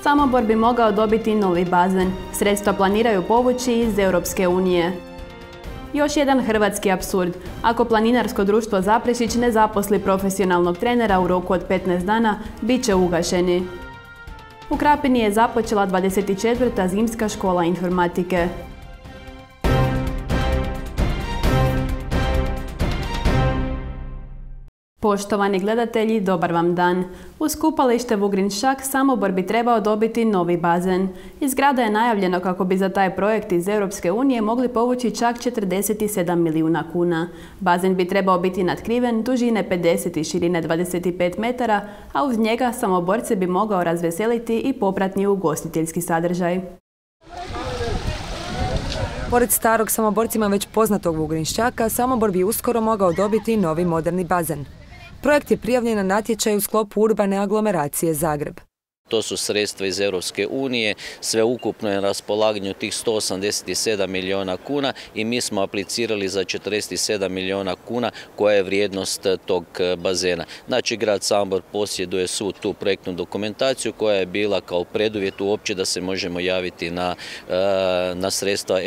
Samobor bi mogao dobiti novi bazen. Sredstva planiraju povući iz Europske unije. Još jedan hrvatski apsurd. Ako Planinarsko društvo Zaprešić ne zaposli profesionalnog trenera u roku od 15 dana, bit će ugašeni. U Krapini je započela 24. zimska škola informatike. Poštovani gledatelji, dobar vam dan. Uz kupalište Vugrinšćak Samobor bi trebao dobiti novi bazen. Iz grada je najavljeno kako bi za taj projekt iz Europske unije mogli povući čak 47 milijuna kuna. Bazen bi trebao biti natkriven, dužine 50 i širine 25 metara, a uz njega Samoborce bi mogao razveseliti i popratni ugostiteljski sadržaj. Pored starog Samoborcima već poznatog Vugrinšćaka, Samobor bi uskoro mogao dobiti novi moderni bazen. Projekt je prijavljen na natječaj u sklopu urbane aglomeracije Zagreb. To su sredstva iz Europske unije, sveukupno je na raspolaganju tih 187 milijuna kuna i mi smo aplicirali za 47 milijuna kuna koja je vrijednost tog bazena. Znači, grad Samobor posjeduje svu tu projektnu dokumentaciju koja je bila kao preduvjet uopće da se možemo javiti na sredstva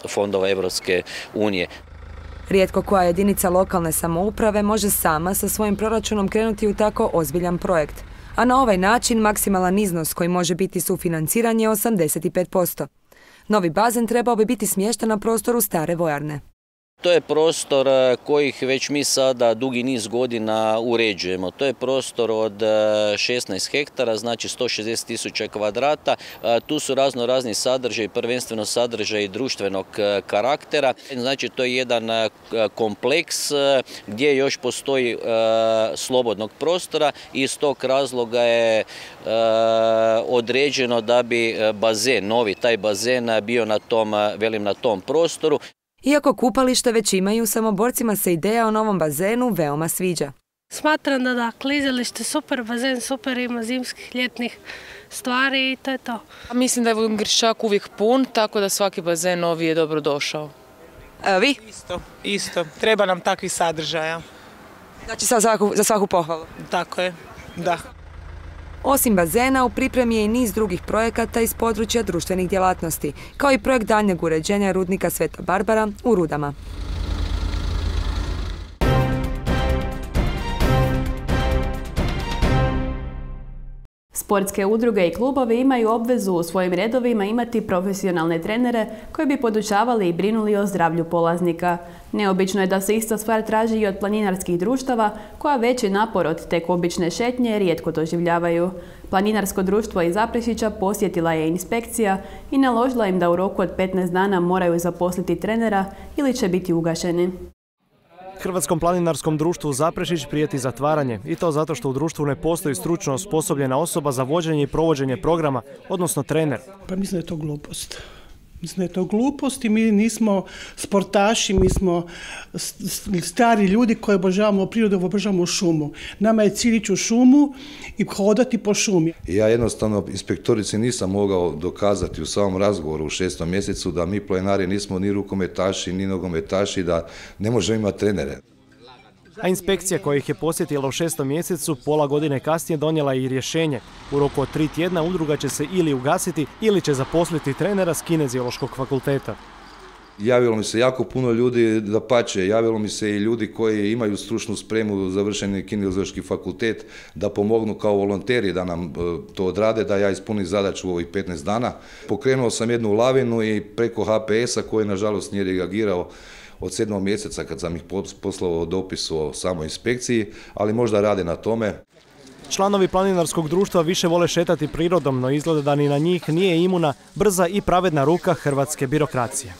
fondova Europske unije. Rijetko koja jedinica lokalne samouprave može sama sa svojim proračunom krenuti u tako ozbiljan projekt. A na ovaj način maksimalan iznos koji može biti sufinanciran je 85%. Novi bazen trebao bi biti smješten na prostoru stare vojarne. To je prostor kojih već mi sada dugi niz godina uređujemo. To je prostor od 16 hektara, znači 160.000 kvadrata. Tu su razni sadržaji, prvenstveno sadržaji društvenog karaktera. Znači, to je jedan kompleks gdje još postoji slobodnog prostora i iz tog razloga je određeno da bi bazen, novi taj bazen bio na tom prostoru. Iako kupalište već imaju, Samoborcima se ideja o novom bazenu veoma sviđa. Smatram da klizalište super, bazen super, ima zimskih, ljetnih stvari i to je to. Mislim da je Vugrinšćak uvijek pun, tako da svaki bazen novi je dobro došao. Vi? Isto. Treba nam takvih sadržaja. Znači za svaku pohvalu? Tako je, da. Osim bazena, u pripremi je i niz drugih projekata iz područja društvenih djelatnosti, kao i projekt daljnjeg uređenja rudnika Sveta Barbara u Rudama. Sportske udruge i klubovi imaju obvezu u svojim redovima imati profesionalne trenere koji bi podučavali i brinuli o zdravlju polaznika. Neobično je da se ista stvar traži i od planinarskih društava, koja veći napor od tek obične šetnje rijetko doživljavaju. Planinarsko društvo iz Zaprešića posjetila je inspekcija i naložila im da u roku od 15 dana moraju zaposliti trenera ili će biti ugašeni. Hrvatskom planinarskom društvu Zaprešić prijeti zatvaranje i to zato što u društvu ne postoji stručno osposobljena osoba za vođenje i provođenje programa, odnosno trener. Pa mislim da je to glupost. Mislim da je to glupost i mi nismo sportaši, mi smo stari ljudi koji obožavamo prirodu, obožavamo šumu. Nama je cilj ići u šumu i hodati po šumi. Ja jednostavno inspektorici nisam mogao dokazati u samom razgovoru u 6. mjesecu da mi planinari nismo ni rukometaši, ni nogometaši, da ne možemo imati trenere. A inspekcija koja ih je posjetila u 6. mjesecu pola godine kasnije donijela i rješenje. U roku od 3 tjedna udruga će se ili ugasiti ili će zaposliti trenera s Kineziološkog fakulteta. Javilo mi se jako puno ljudi, dapače, javilo mi se i ljudi koji imaju stručnu spremu, završeni Kineziološki fakultet, da pomognu kao volonteri da nam to odrade, da ja ispunim zadaću u ovih 15 dana. Pokrenuo sam jednu lavinu i preko HPS-a koji nažalost nije reagirao od 7. mjeseca kad sam ih poslao dopis o samoj inspekciji, ali možda rade na tome. Članovi planinarskog društva više vole šetati prirodom, no izgleda da ni na njih nije imuna brza i pravedna ruka hrvatske birokracije.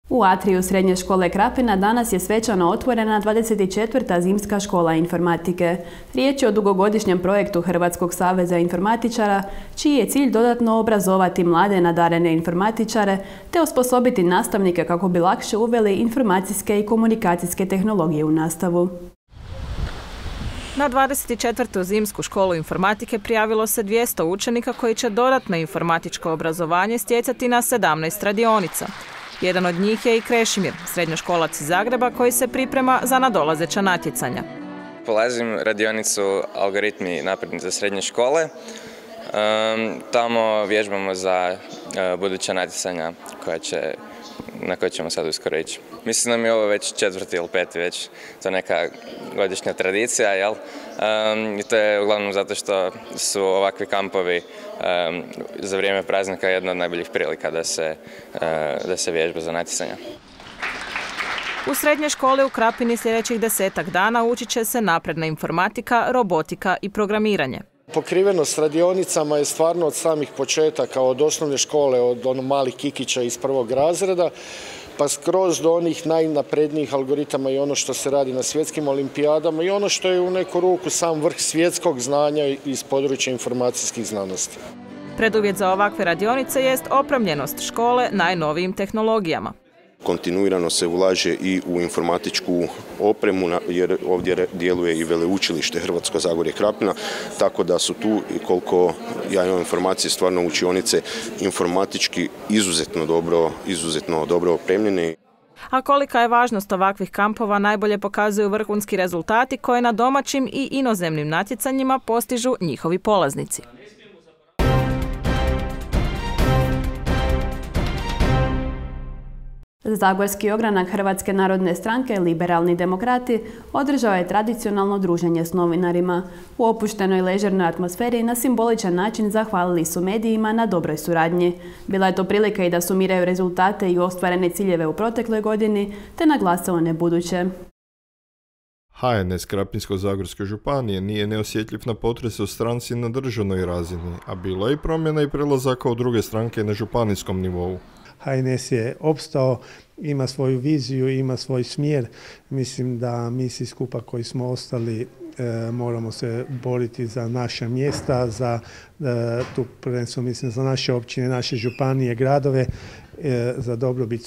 U atriju Srednje škole Krapina danas je svečano otvorena 24. zimska škola informatike. Riječ je o dugogodišnjem projektu Hrvatskog saveza informatičara, čiji je cilj dodatno obrazovati mlade nadarene informatičare te osposobiti nastavnike kako bi lakše uveli informacijske i komunikacijske tehnologije u nastavu. Na 24. zimsku školu informatike prijavilo se 200 učenika koji će dodatno informatičko obrazovanje stjecati na 17 radionica. Jedan od njih je i Krešimir, srednjoškolac iz Zagreba koji se priprema za nadolazeća natjecanja. Polazim radionicu algoritmi napredni za srednje škole. Tamo vježbamo za buduća natjecanja na koje ćemo sad uskoro ići. Mislim da mi je ovo već 4. ili 5. već to neka godišnja tradicija, jel? I to je uglavnom zato što su ovakvi kampovi za vrijeme praznika jedna od najboljih prilika da se vježba za natjecanja. U srednjoj školi u Krapini sljedećih 10-ak dana učit će se napredna informatika, robotika i programiranje. Pokrivenost radionicama je stvarno od samih početaka, od osnovne škole, od malih kikića iz 1. razreda, pa skroz do onih najnaprednijih algoritama i ono što se radi na svjetskim olimpijadama i ono što je u neku ruku sam vrh svjetskog znanja iz područja informacijskih znanosti. Preduvjet za ovakve radionice jest opremljenost škole najnovijim tehnologijama. Kontinuirano se ulaže i u informatičku opremu, jer ovdje djeluje i veleučilište Hrvatsko Zagorje Krapina, tako da su tu, koliko ja imam informacije, stvarno učionice informatički izuzetno dobro opremljene. A kolika je važnost ovakvih kampova najbolje pokazuju vrhunski rezultati koje na domaćim i inozemnim natjecanjima postižu njihovi polaznici. Zagorski ogranak Hrvatske narodne stranke Liberalni demokrati održao je tradicionalno druženje s novinarima. U opuštenoj ležernoj atmosferi na simboličan način zahvalili su medijima na dobroj suradnji. Bila je to prilika i da sumiraju rezultate i ostvarene ciljeve u protekloj godini, te naglase one buduće. HNS Krapinsko-zagorske županije nije neosjetljiv na potrese u stranci na državnoj razini, a bilo je i promjena i prelazaka u druge stranke na županijskom nivou. HNS je opstao, ima svoju viziju, ima svoj smjer. Mislim da mi svi skupa koji smo ostali moramo se boriti za naša mjesta, tu prvenstveno mislim za naše općine, naše županije, gradove, za dobrobit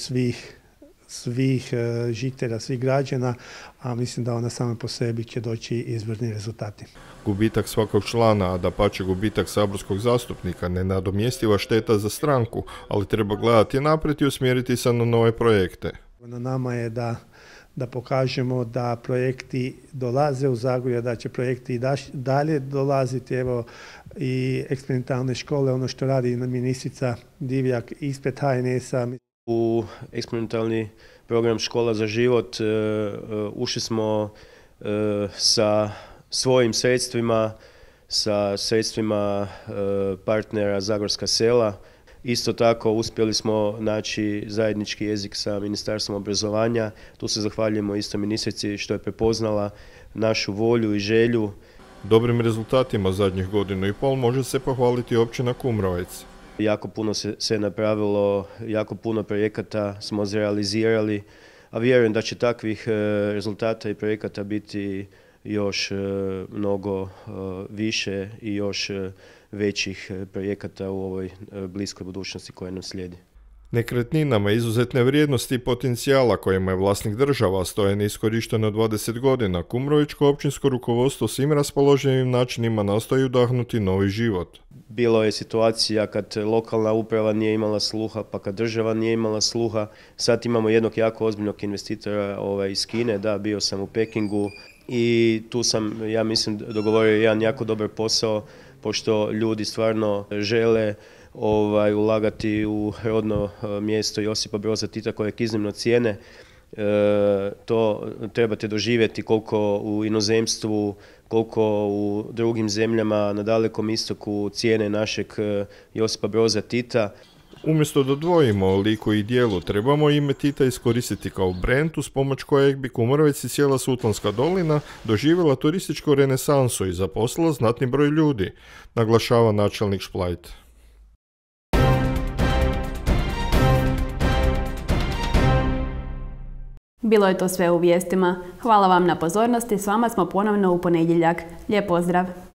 svih žitelja, svih građana, a mislim da ona sama po sebi će doći izvrni rezultati. Gubitak svakog člana, a dapače gubitak saborskog zastupnika, nenadomjestiva šteta za stranku, ali treba gledati naprijed i usmjeriti se na nove projekte. Na nama je da pokažemo da projekti dolaze u Zagorje, da će projekti i dalje dolaziti. Evo i eksperimentalne škole, ono što radi ministrica Divjak ispred HNS-a. U eksperimentalni program Škola za život ušli smo sa svojim sredstvima, sa sredstvima partnera Zagorska sela. Isto tako uspjeli smo naći zajednički jezik sa Ministarstvom obrazovanja. Tu se zahvaljujemo isto ministrici što je prepoznala našu volju i želju. Dobrim rezultatima zadnjih 1,5 godina može se pohvaliti općina Kumrovec. Jako puno se napravilo, jako puno projekata smo zrealizirali, a vjerujem da će takvih rezultata i projekata biti još mnogo više i još većih projekata u ovoj bliskoj budućnosti koja nam slijedi. Nekretninama izuzetne vrijednosti i potencijala kojima je vlasnik država stoje neiskorišteno 20 godina, kumrovičko općinsko rukovodstvo svim raspoloženim načinima nastoji udahnuti novi život. Bilo je situacija kad lokalna uprava nije imala sluha, pa kad država nije imala sluha. Sad imamo jednog jako ozbiljnog investitora iz Kine, bio sam u Pekingu i tu sam, ja mislim, dogovorio jedan jako dobar posao, pošto ljudi stvarno žele ulagati u rodno mjesto Josipa Broza Tita kojeg iznimno cijene. To trebate doživjeti koliko u inozemstvu, koliko u drugim zemljama na Dalekom istoku cijene našeg Josipa Broza Tita. Umjesto da dvojimo o liku i dijelu, trebamo ime Tita iskoristiti kao brend uz pomoć kojeg bi Kumrovec i cijela Sutlanska dolina doživjela turističku renesansu i zaposlila znatni broj ljudi, naglašava načelnik Šplajt. Bilo je to sve u vijestima. Hvala vam na pozornosti, s vama smo ponovno u ponedjeljak. Lijep pozdrav!